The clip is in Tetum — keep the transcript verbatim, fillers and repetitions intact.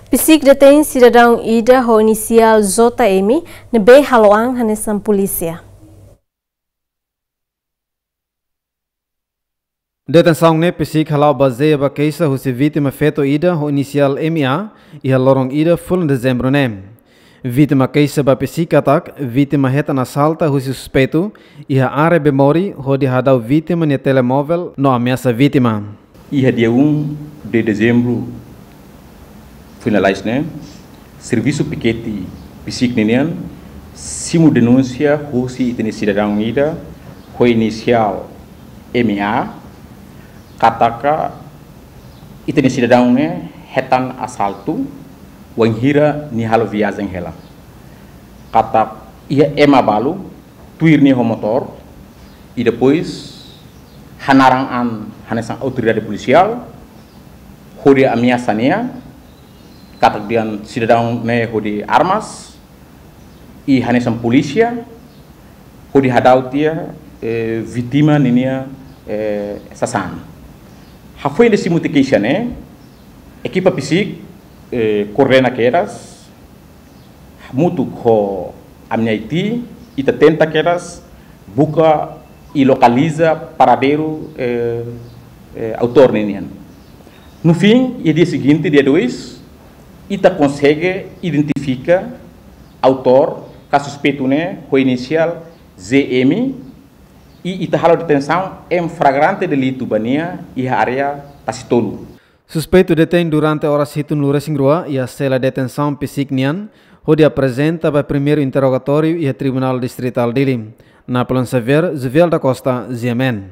PCIC detein sidadaun ida ho inisiál J M ne'ebé halo an hanesan polísia. Detensaun ne'e PCIC hala'o bazeia ba keixa husi vítima feto ida ho inisiál M A iha loron ida fulan Dezembru ne'e. Vítima keixa ba PCIC katak vítima hetan asalta husi suspeitu iha área Bemori hodi hadau vítima nia telemóvel no ameasa vítima. Iha dia um de dezembro finaliza ne'e, servisu pikete PCIC ninian simu denúnsia husi ita-nia sidadaun ida ho inisiál M A katak ita-nia sidadaun ne'e hetan asaltu wainhira nia halo viajen hela. Katak iha ema balu tuir nia ho motór, i depois hanaran an hanesan autoridade polisiál, hodi ameasa nia, katak dehan sidadaun ne'e hodi armas, i hanesan polísia, hodi hadau tiha, eh, vítima ninia, eh, sasán. Hafoin de simu tiha keixa ne'e, ekipa PCIC, eh, koordena kedas, hamutuk ho AMNIT, ita tenta kedas buka i lokaliza paradeiru, eh, eh, autór ninian. No fim, iha dia seguinte, dia dois, ita konsege identifika autór ka suspeitu ne'e ho inisiál Z M, i ita halo detensaun em flagrante delito ba nia iha área Tasitolu. Suspeitu detein durante oras hitunulu-resin-rua iha sela detensaun PCIC nian, hodi aprezenta ba primeiru interrogatóriu iha Tribunál Distritál Dili. Napoleon Xavier, Juvial da Costa, G M N.